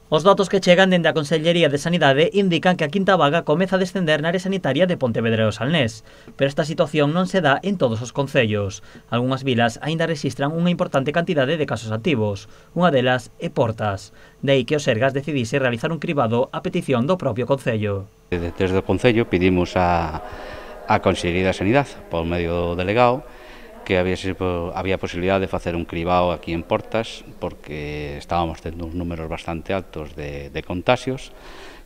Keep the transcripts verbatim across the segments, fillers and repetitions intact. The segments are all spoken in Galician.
Os datos que chegan dende a Consellería de Sanidade indican que a quinta vaga comeza a descender na área sanitaria de Pontevedra e o Salnés, pero esta situación non se dá en todos os concellos. Algunhas vilas aínda rexistran unha importante cantidade de casos activos, unha delas é Portas. De aí que o Sergas decidise realizar un cribado a petición do propio concello. Desde o concello pedimos a, a Consellería de Sanidade, por medio do delegado, que había, había posibilidade de facer un cribado aquí en Portas, porque estábamos tendo uns números bastante altos de, de contagios,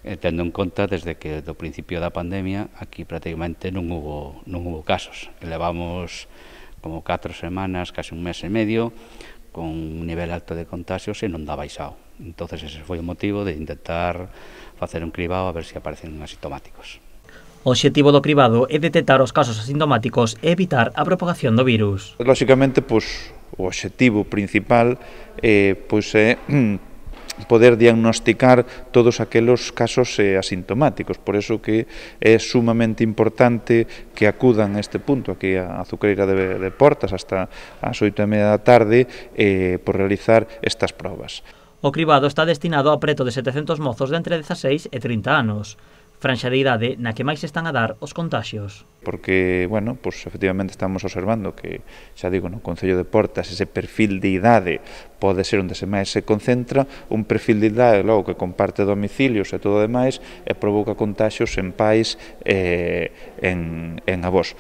eh, tendo en conta desde que do principio da pandemia aquí prácticamente non hubo, non hubo casos. Levamos como catro semanas, casi un mes e medio, con un nivel alto de contagios e non dá baixado. Entonces ese foi o motivo de intentar facer un cribado a ver se aparecen asintomáticos. O obxectivo do cribado é detectar os casos asintomáticos e evitar a propagación do virus. Lóxicamente, pois, o obxectivo principal eh, pois, é poder diagnosticar todos aqueles casos eh, asintomáticos. Por eso que é sumamente importante que acudan a este punto, aquí a Azucreira de, de Portas, hasta as oito e media da tarde, eh, por realizar estas probas. O cribado está destinado a preto de setecentos mozos de entre dezaseis e trinta anos. Franxa de idade na que máis están a dar os contagios. Porque, bueno, pues efectivamente estamos observando que, xa digo, no Concello de Portas ese perfil de idade pode ser onde se máis se concentra, un perfil de idade logo que comparte domicilios e todo o demais e provoca contagios en pais e en, en avós.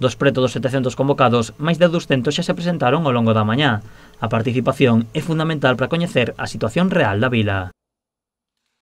Dos preto dos setecentos convocados, máis de douscentos xa se presentaron ao longo da mañá. A participación é fundamental para coñecer a situación real da vila.